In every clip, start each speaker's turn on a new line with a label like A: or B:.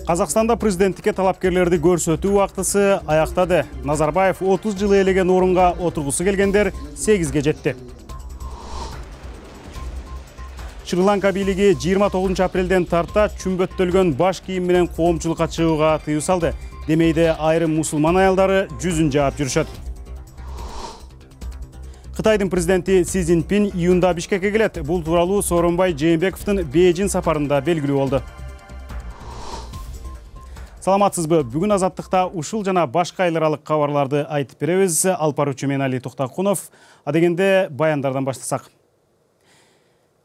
A: Казакстанда президенттикке талапкерлерди көрсөтүү убактысы аяктады. Назарбаев 30 жыл ээлеген орунга отургусу келгендер 8ге жетти. Шри-Ланка бийлиги 29 апрелден тарта чүмбөттөлгөн баш кийим менен коомчулукка чыгууга тыюу салды. Демейде айрым мусулман аялдары жүзүн жаап жүрүшөт. Кытайдын президенти Си Цзиньпин июнда Бишкекке келет. Бул тууралуу Сооронбай Жээнбековдун Бейжин сапарында белгилүү болду. Саламатсызбы? Бүгүн Азаттыкта ушул жана башка эл аралык кабарларды айтып беребиз. Алып баруучу мен Али Токтакунов. Адегенде баяндардан баштасак.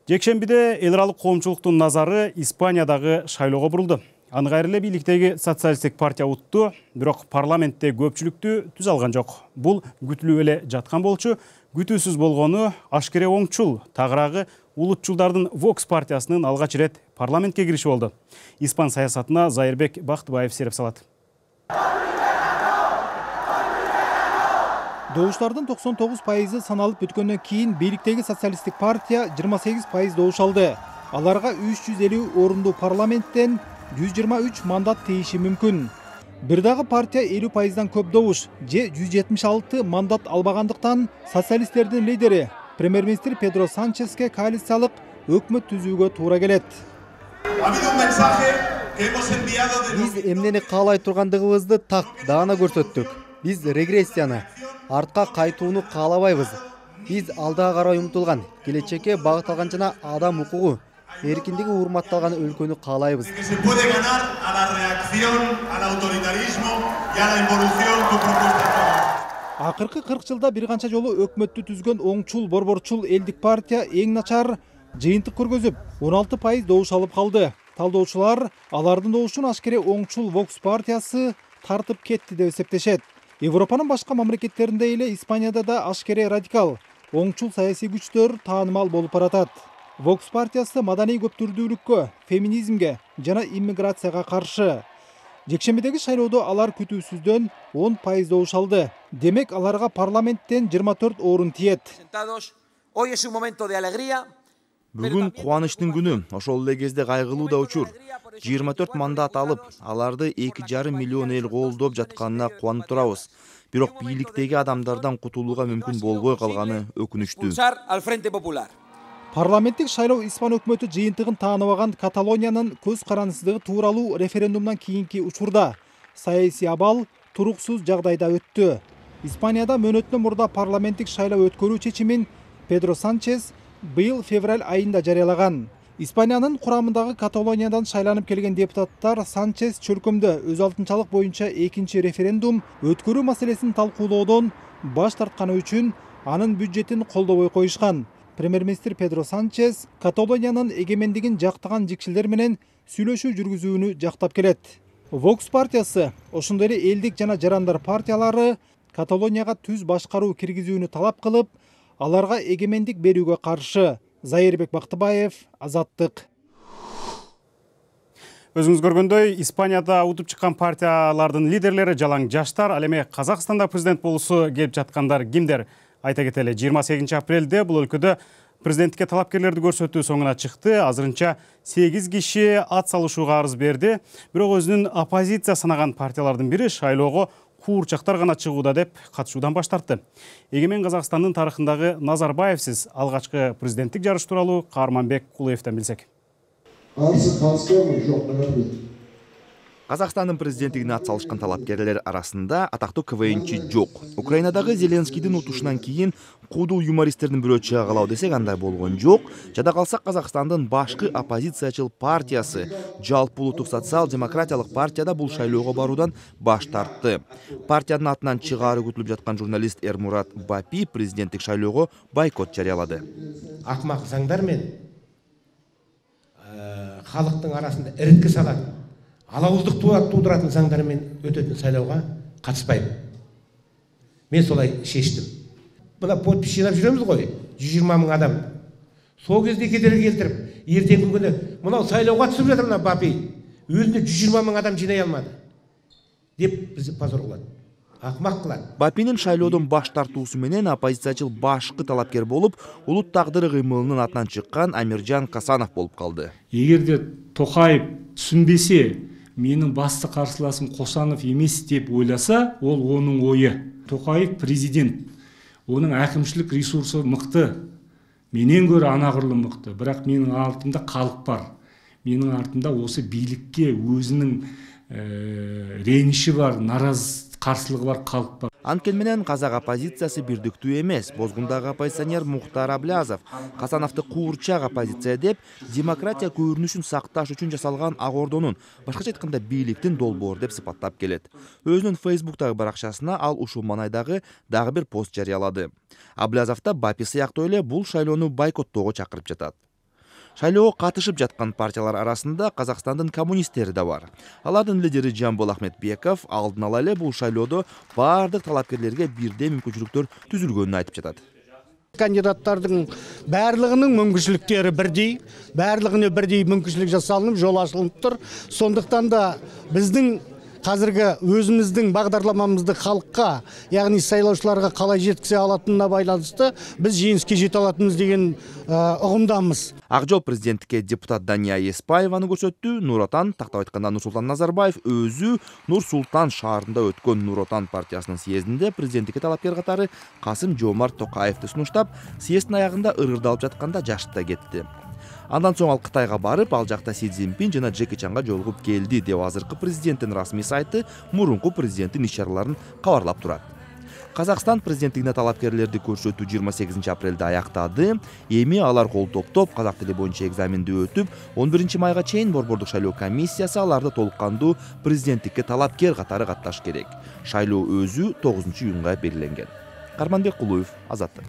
A: Жекшембиде эл аралык коомчулуктун назары Испаниядагы шайлоого бурулду. Аныкайры эле бийликтеги социалисттик партия утту, бирок парламентте көпчүлүктү түзө алган жок. Бул күтүлүп эле жаткан болчу. Күтүүсүз болгону ашкере оңчул, тагыраагы улутчулдардын Vox партиясынын алгач ирет парламентке кириши болду. Испан саясатына Зайырбек Бактыбаев сереп салат.
B: Добуштардын 99% саналып бүткөндөн кийин бийликтеги социалисттик партия 28% добуш алды. Аларга 350 орунду парламенттен 123 мандат тийиши мүмкүн. Бир дагы партия 50%дан көп добуш же 176 мандат албагандыктан социалисттердин лидери премьер-министр Педро Санческе коалициялык өкмөт түзүүгө туура келет.
C: Биз эмнени каалай тургандыгыбызды так даана көрсөттүк. Биз регрессияны, артка кайтууну каалабайбыз. Биз алдыга карай умтулган, келечекке багытталган жана адам укугу, эркиндиги урматталган өлкөнү каалайбыз.
B: Акыркы 40 жылда бир канча жолу өкмөттү түзгөн оңчул борборчул элдик партия эң начар жыйынтык көргөзүп 16% добуш алып калды. Талдоочулар алардын добушун ашкере оңчул Vox партиясы тартып кетти деп эсептешет. Европанын башка мамлекеттеринде эле Испанияда да ашкере радикал оңчул саясий күчтөр таанымал болуп баратат. Vox партиясы маданий көптүрдүүлүккө, феминизмге жана иммиграцияга каршы. Жекшембидеги шайлоодо алар күтүүсүздөн 10% добуш алды. Демек аларга парламенттен 24 орун тиет.
D: Бүгүн кубанычтын күнү, ошол эле кезде кайгылуу да учур. 24 мандат алып, аларды 2,5 миллион эл колдоп жатканына кубанып турабыз. Бирок бийликтеги адамдардан кутулууга мүмкүн болбой калганы өкүнүчтүү.
B: Парламенттик шайлоо Испан өкмөтү жыйынтыгын тааныбаган Каталониянын көз карандысыздыгы тууралуу референдумдан кийинки учурда саясий абал туруксуз жагдайда өттү. Испанияда мөөнөтүнөн мурда парламенттик шайлоо өткөрүү чечимин Педро Санчес быйыл февраль айында жарыялаган. Испаниянын курамындагы Каталониядан шайланып келген депутаттар Санчес чөлкөмдө өз алтынчалык боюнча экинчи референдум өткөрүү маселесин талкуулоодон баш тартканы үчүн анын бюджетин колдобой коюшкан. Премьер-министр Педро Санчес Каталониянын эгемендигин жактаган жикшилдер менен сүйлөшүү жүргүзүүнү жактап келет. Vox партиясы, ошондой эле элдик жана жарандар партиялары Каталонияга түз башкаруу киргизүүнү талап кылып, аларга эгемендик берүүгө каршы. Зайырбек Бактыбаев, Азаттык.
A: Өзүңүз көргөндөй, Испанияда утуп чыккан партиялардын лидерлери жалаң жаштар. Ал эми Казакстанда президент болуусу келип жаткандар кимдер? Айта кетели, 28 апрелде бул өлкөдө президенттикке талапкерлерди көрсөтүү соңуна чыкты. Азырынча 8 киши ат салышууга арыз берди. Бирок өзүнүн оппозиция санаган партиялардын бири шайлоого куурчактар гана чыгууда деп катышуудан баш тартты. Эгемен Казакстандын тарыхындагы Назарбаевсиз алгачкы президенттик жарыш тууралуу Каарманбек Кулуевден билсек.
D: Казакстандын президенттигине ат салышкан талапкерлер арасында атактуу КВНчи жок. Украинадагы Зеленскийдин утушунан кийин куудуу юмористтердин бирөө чыга калабы десек андай болгон жок. Жада калсак Казакстандын башкы оппозициячыл партиясы Жалпы улуттук социал-демократиялык партияда бул шайлоого баруудан баш тартты. Партиянын атынан чыгаары күтүлүп жаткан журналист Эрмурат Бапи президенттик шайлоого бойкот жарыялады.
E: Акмак заңдар мен халыктын арасында иритке салат, алауыздық тудыратын заңдармен өтетін сайлауға қатыспаймын. Мен солай шештім. Мына подпис жинап жүреміз ғой, 120 мың адам. Сол кезде кедергі келтіріп, ертеңгі күні мынау сайлауға түсіп жатыр мына Бапи. Өзіне 120 мың адам жинай алмады. Деп бізді позор қылады. Акмак кылат.
D: Бапинин шайлоодон баш тартуусу менен оппозициячыл башкы талапкер болуп, улут тагдыры кыймылынын атынан чыккан Амиржан Касанов болуп калды.
F: Эгерде Токаев түшүнбесе, менин басты карсыласым Косанов эмес деп ойласа, ол онун ою. Токаев президент, onun әкімшілік ресурсы мықты, менен көрі анағырлы мықты, бірақ менің артымда халық бар. Менің артымда осы бийликке өзінің реніші бар, қарсылығы бар халық бар.
D: Анткени менен казак оппозициясы бирдиктүү эмес. Бозгундагы оппозиционер Мухтар Аблязов Касановду куурчак оппозиция деп, демократия көрүнүшүн сакташ үчүн жасалган ак ордонун, башкача айтканда бийликтин долбоору деп сыпаттап келет. Өзүнүн Facebook'тагы баракчасына ал ушул маанайдагы дагы бир пост жарыялады. Аблязов да Бапи сыяктуу эле бул шайлоону бойкоттоого чакырып жатат. Шайлоого катышып жаткан партиялар арасында Казакстандын коммунисттери да бар. Алардын лидери Жамбыл Ахметбеков алдын ала эле бул шайлоодо бардык талапкерлерге бирдей мүмкүнчүлүктөр түзүлгөнүн айтып жатат.
G: Кандидаттардын барлығының мүмкіншіліктері бірдей, барлығына бірдей мүмкіншілік жасалынып, жол ашылып тұр. Сондықтан да біздің қазіргі өзіміздің бағдарламамызды халыққа, яғни сайлаушыларға қалай жеткізе алатынына байланысты біз жеңіске жете алатынымыз деген ұғымдамыз.
D: Ак жол президенттикке депутат Дания Еспаеваны көрсөттү. Нур Отан, тактап айтканда Нурсултан Назарбаев өзү Нур Султан шаарында өткөн Нур Отан партиясынын съездинде президенттикке талапкер катары Касым Жомарт Токаевди сунуштап, съезддин аягында ыргырдалып жатканда жашта кетти. Андан соң ал Кытайга барып, ал жакта Си Цзиньпин жана Джеки Чанга жолугуп келди деп азыркы президенттин расмий сайты мурунку президенттин иш-чараларын кабарлап турат. Казакстан президенттигине талапкерлерди көрсөтүү 28 апрелде аяктады. Эми алар кол топтоп, казак тили боюнча экзаменди өтүп, 11 майга чейин Борбордук шайлоо комиссиясы аларды толук кандуу президенттикке талапкер катары катташ керек. Шайлоо өзү 9 июнга белгиленген. Карманбек Кулуев, Азаттык.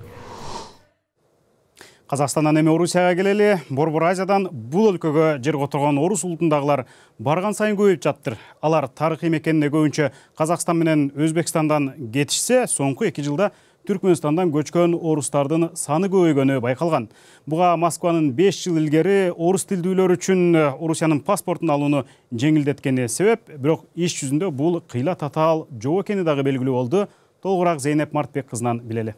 A: Казакстандан эми Орусияга келели. Борбор Азиядан бул өлкөгө жер которгон орус улутундагылар барган сайын көбөйүп жаттыр. Алар тарыхый мекенине көбүнчө Казакстан менен Өзбекстандан кетишсе, соңку 2 жылда Түркмөнстандан көчкөн орустардын саны көбөйгөнү байкалган. Буга Москванын 5 жыл илгери орус тилдүүлөр үчүн Орусиянын паспортун алууну жеңилдеткени себеп, бирок иш жүзүндө бул кыйла татаал жоо экени дагы белгилүү болду. Толугураак Зейнеп Мартбек кызынан билели.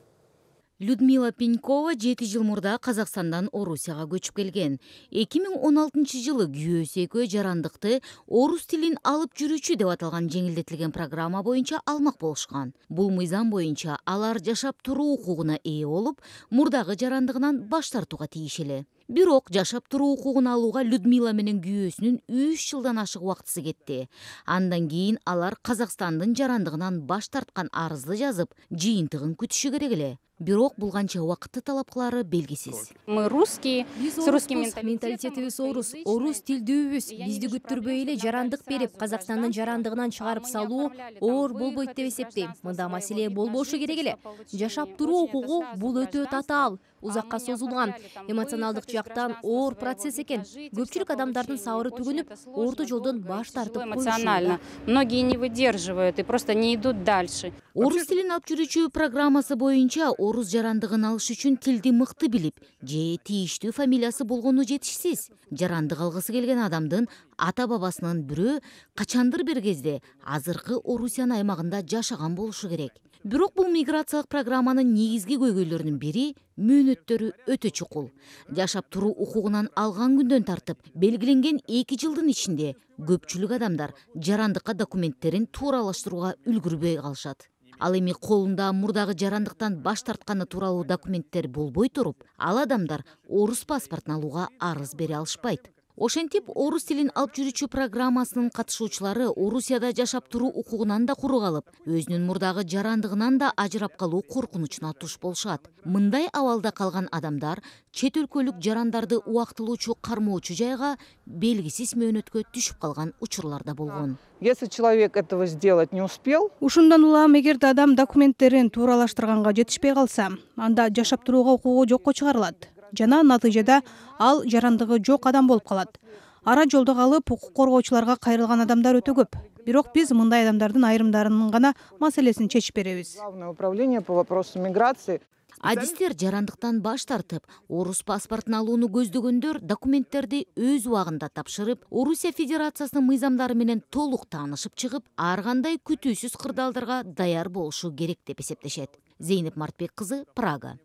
H: Людмила Пенькова 7 жыл мурда Казакстандан Орусияга көчүп келген. 2016 жылы күйөөсү экөө жарандыкты орус тилин алып жүрүүчү деп аталган жеңилдетилген программа боюнча алмак болушкан. Бул мыйзам боюнча алар жашап туруу укугуна ээ болуп, мурдагы жарандыгынан баш тартууга тийишели. Бирок жашап туруу укугун алууга Людмила менен күйөөсүнүн 3 жылдан ашык убактысы кетти. Андан кийин алар Казакстандын жарандыгынан баш тарткан арызды жазып, жыйынтыгын күтүшү керек эле. Бирок бул канча убакытты талап кылары белгисиз.
I: Мы русские, с русским
J: менталитетибиз орус тилдүүбүз. Бизди күттүрбөй эле жарандык берип, Казакстандын жарандыгынан чыгарып салуу оор болбойт деп эсептейм. Мында маселе болбошу керек эле. Жашап туруу укугу бул өтө татаал, узакка созулган, эмоционалдык жактан оор процесс экен. Көпчүлүк адамдардын сабыры түгүнүп, орто жолдон баш тартып
I: эмоционально. Многие не выдерживают и просто не идут дальше.
H: Орус тилин алып жүрүүчү программасы боюнча орус жарандыгын алыш үчүн тилди мыкты билип, же тийиштүү фамилиясы болгону жетишсиз. Жарандык алгысы келген адамдын ата-бабасынын бирөө качандыр бир кезде азыркы Орусиян аймагында жашаган болушу керек. Бирок бул миграциялык программанын негизги көйгөйлөрүнүн бири мөөнөттөрү өтө чукул. Жашап туруу укугунан алган күндөн тартып, белгиленген 2 жылдын ичинде көпчүлүк адамдар жарандыкка документтерин тууралаштырууга үлгүрбөй калышат. Ал эми колунда мурдагы жарандыктан баш тартканы тууралуу документтер болбой туруп, ал адамдар орус паспортун алууга арыз бере алышпайт. Ошентип, орус тилин алып жүрүүчү программасынын катышуучулары Орусияда жашап туруу укугунан да куру калып, өзүнүн мурдагы жарандыгынан да ажырап калуу коркунучуна туш болушат. Мындай абалда калган адамдар чет өлкөлүк жарандарды убактылуучу кармоочу жайга белгисиз мөөнөткө түшүп калган учурлар да болгон.
K: Если человек этого сделать не успел,
L: ушундан улам эгерде адам документтерин тууралаштырганга жетишпей калса, анда жашап турууга укугу жокко чыгарылат. Жана натыйжада ал жарандыгы жок адам болуп калат. Ара жолдо калып, укук коргоочуларга кайрылган адамдар өтө көп. Бирок биз мындай адамдардын айрымдарынын гана маселесин чечип беребиз.
K: Главное управление по вопросу миграции.
H: Адистер жарандыктан баш тартып, орус паспортун алууну көздөгөндөр документтерди өз убагында тапшырып, Орусия Федерациясынын мыйзамдары менен толук таанышып чыгып, ар кандай күтүүсүз кырдаалдарга даяр болушу керек деп эсептешет. Зейнеп Мартбек кызы, Прага.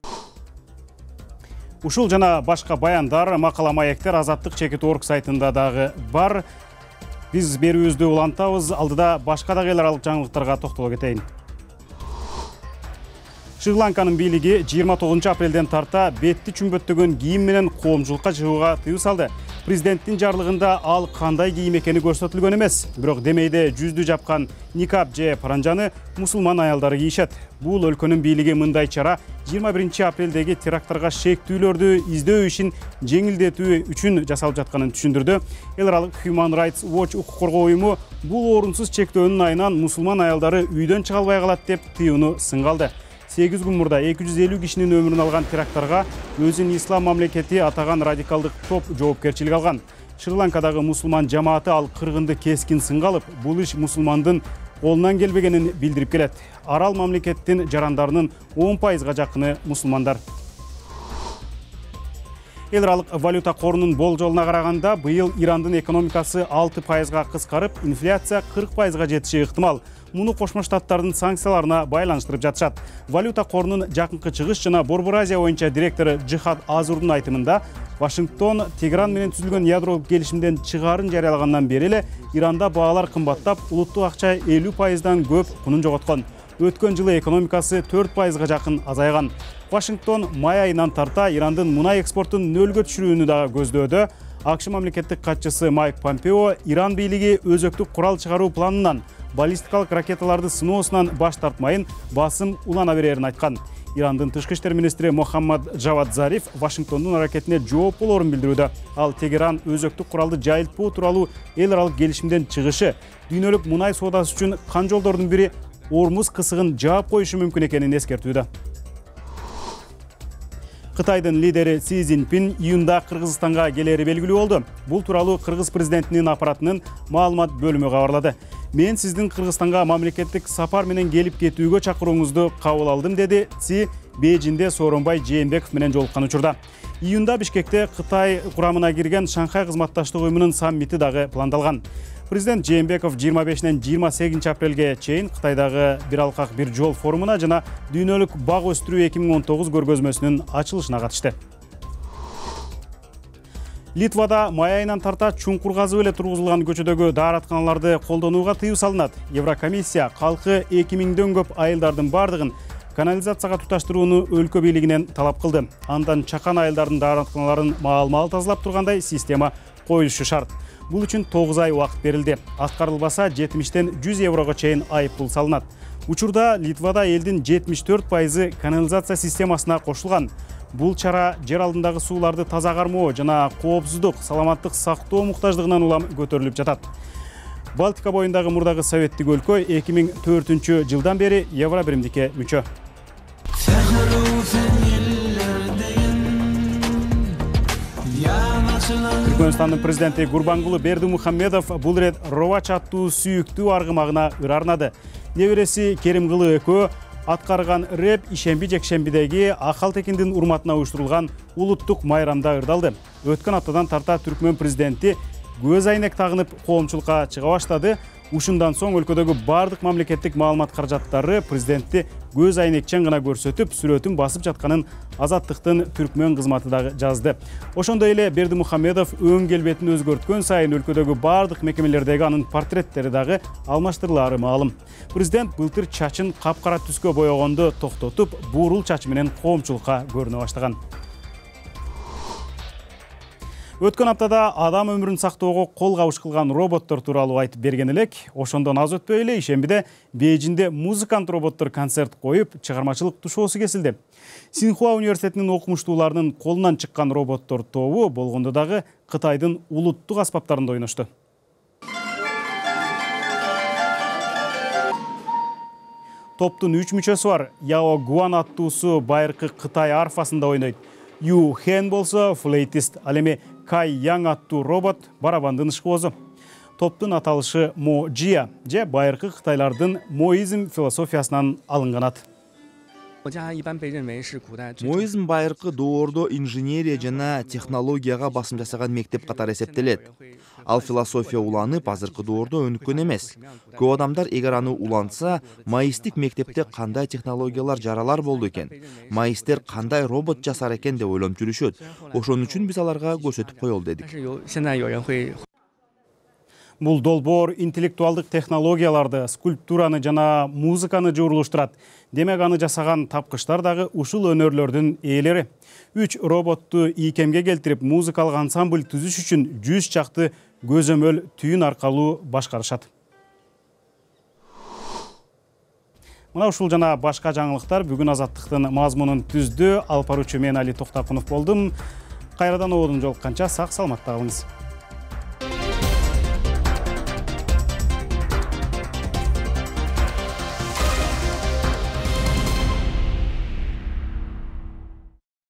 A: Ушул жана башка баяндар, макала маектер Азаттык.org сайтында дагы бар. Биз берүүбүздү улантабыз. Алдыда башка дагы эл аралык жаңылыктарга токтоло кетейин. Шри-Ланканын бийлиги 29 апрелден тарта бетти чүмбөттөгөн кийим менен коомчулукка чыгууга тыюу салды. Президенттин жарлыгында ал кандай кийим экени көрсөтүлгөн эмес. Бирок демейде жүздү жапкан никап же паранжаны мусулман аялдары кийишет. Бул өлкөнүн бийлиги мындай чара 21 апрелдеги теракттарга шектүүлөрдү издөө ишин жеңилдетүү үчүн жасалып жатканын түшүндүрдү. Эл аралык Human Rights Watch укук коргоо уюму бул орунсуз чектөөнүн айынан мусулман аялдары үйдөн чыга албай калат деп тыюуну сынга алды. 8 күн мурда 250 кишинин өмүрүн алган теракттарга өзүн ислам мамлекети атаган радикалдык топ жоопкерчилик алган. Шри-Ланкадагы мусулман жамааты ал кыргынды кескин сынга алып, бул иш мусулмандын колунан келбегенин билдирип келет. Арал мамлекеттин жарандарынын 10%га жакыны мусулмандар. Эл аралык валюта корунун болжолуна караганда, быйыл Ирандын экономикасы 6%га кыскарып, инфляция 40%га жетиши ыктымал. Муну Кошмо Штаттардын санкцияларына байланыштырып жатышат. Валюта корунун жакынкы чыгыш жана Борбор Азия боюнча директору Джихад Азурдун айтымында, Вашингтон Тегеран менен түзүлгөн ядролук келишимден чыгаарын жарыялагандан бери эле Иранда баалар кымбаттап, улуттук акча 50%дан көп кунун жоготкон. Өткөн жылы экономикасы 4%га жакын азайган. Вашингтон май айынан тарта Ирандын мунай экспортун нөлгө түшүрүүнү дагы көздөөдө. АКШ мамлекеттик катчысы Майк Помпео Иран бийлиги өзөктүк курал чыгаруу планынан баллистикалык ракеталарды сыноосунан баш тартмайын, басым улана берерин айткан. Ирандын тышкы иштер министри Мохаммад Джавад Зариф Вашингтондун аракетине жооп болоорун билдирүүдө. Ал Тегеран өзөктүк куралды жайылтпоо тууралуу эл аралык келишимден чыгышы дүйнөлүк мунай соодасы үчүн кан жолдордун бири Ормуз кысыгын жаап коюшу мүмкүн экенин эскертүүдө. Кытайдын лидери Си Цзиньпин июнда Кыргызстанга келери белгилүү болду. Бул тууралуу Кыргыз президентинин аппаратынын маалымат бөлүмү кабарлады. Мен сиздин Кыргызстанга мамлекеттик сапар менен келип кетүүгө чакырууңузду кабыл алдым, деди Си Бейжинде Сооронбай Жээнбеков менен жолуккан учурда. Июнда Бишкекте Кытай курамына кирген Шанхай кызматташтык уюмунун саммити дагы пландалган. Президент Жээнбеков 25-нен 28 апрелге чейин Кытайдагы бир алкак бир жол форумуна жана дүйнөлүк бак өстүрүү 2019 көргөзмөсүнүн ачылышына катышты. Литвада май айынан тарта чуңкур казып эле тургузулган көчөдөгү дааратканаларды колдонууга тыюу салынат. Еврокомиссия калкы 2000дөн көп айылдардын бардыгын канализацияга туташтырууну өлкө бийлигинен талап кылды. Андан чакан айылдардын дааратканаларын маал-маал тазалап тургандай система коюлушу шарт. Бул үчүн 9 ай убакыт берилди. Аткарылбаса 70-тен 100 еврого чейин айыппул салынат. Учурда Литвада элдин 74% канализация системасына кошулган. Бул чара жер алдындагы сууларды таза кармоо жана коопсуздук, саламаттык сактоо муктаждыгынан улам көтөрүлүп жатат. Балтика боюндагы мурдагы советтик өлкө 2004 жылдан бери Евро биримдикке мүчө. Түркмөнстандын президенти Гурбангулы Бердимухамедов бул рет Ровач аттуу сүйүктүү аргымагына ыр арнады. Небереси Керимкулы экөө аткарган рэп ишемби-жекшембидеги Акалтекиндин урматына уюштурулган улуттук майрамда ырдалды. Өткөн аптадан тарта Түркмөн президенти көз айнек тагынып коомчулукка чыга баштады. Ушундан соң өлкөдөгү бардык мамлекеттик маалымат каражаттары президентти көз айнекчен гана көрсөтүп, сүрөтүн басып жатканын Азаттыктын Түркмөн кызматы дагы жазды. Ошондой эле Бердимухамедов өң келбетин өзгөрткөн сайын өлкөдөгү бардык мекемелердеги анын портреттери дагы алмаштырылаары маалым. Президент былтыр чачын капкара түскө боёгонду токтотуп, буурул чач менен коомчулукка көрүнө баштаган. Өткөн аптада адам өмүрүн сактоого кол кабыш кылган роботтор тууралуу айтып берген элек. Ошондон аз өтпөй эле ишембиде Бейжинде музыкант роботтор концерт коюп, чыгармачылык тушоосу кесилди. Синхуа университетинин окумуштууларынын колунан чыккан роботтор тобу болгондо дагы Кытайдын улуттук аспаптарында ойношту. Топтун 3 мүчөсү бар. Яо Гуан аттуусу байыркы Кытай арфасында ойнойт. Ю Хэн болсо флейтист, ал эми Кай Яң аттуу робот барабандын ышкоозу. Топтун аталышы Мо Джия же байыркы кытайлардын моизм философиясынан алынган ат.
D: Моизм байыркы доордо инженерия жана технологияга басым жасаган мектеп катары эсептелет. Ал философия уланып, азыркы доордо өнүккөн эмес. Көп адамдар эгер аны уланса, маистик мектепте кандай технологиялар жаралар болду экен, маистер кандай робот жасар экен деп ойлонуп жүрүшөт. Ошон үчүн биз аларга көрсөтүп коелу дедик.
A: Бул долбоор интеллектуалдык технологияларды, скульптураны жана музыканы жуурулуштурат. Демек аны жасаган тапкычтар дагы ушул өнөрлөрдүн ээлери. 3 роботту ийкемге келтирип, музыкалык ансамбль түзүш үчүн 100 чакты көзөмөл түйүн аркылуу башкарышат. Мына ушул жана башка жаңылыктар бүгүн Азаттыктын мазмунун түздү. Алып баруучу мен Али Токтакунов болдум. Кайрадан оодун жолукканча сак саламатта калыңыз.